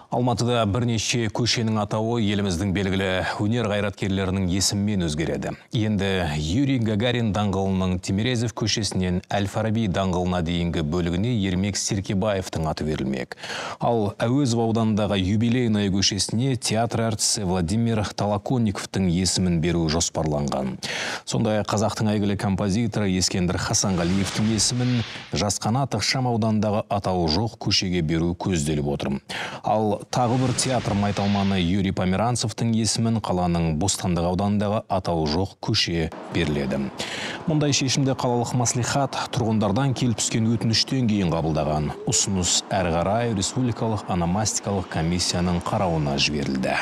Алматыда бірнеше көшенің атауы еліміздің белгілі өнер қайраткерлерінің есімімен өзгереді. Енді Юрий Гагарин даңғылының Тимирязев көшесінен Әл-Фараби даңғылына дейінгі бөлігіне Ермек Серкебаевтың аты берілмек. Ал Әуезов ауданындағы Юбилейная көшесіне театр әртісі Владимир Толоконниковтың есімін беру жоспарланған. Сондай қазақтың әйгілі композиторы Ескендір Хасанғалиевтің есімін Жасқанат ықшам ауданындағы атауы жоқ көшеге беру көзделіп отыр. Ал тағы бір театр майталманы Юрий Померанцевтің есімін қаланың Бостандық ауданындағы атауы жоқ көше беріледі. Мұндай шешімді қалалық маслихат тұрғындардан келіп түскен өтініштен кейін қабылдаған. Ұсыныс әрі қарай республикалық ономастикалық комиссияның қарауына жіберілді.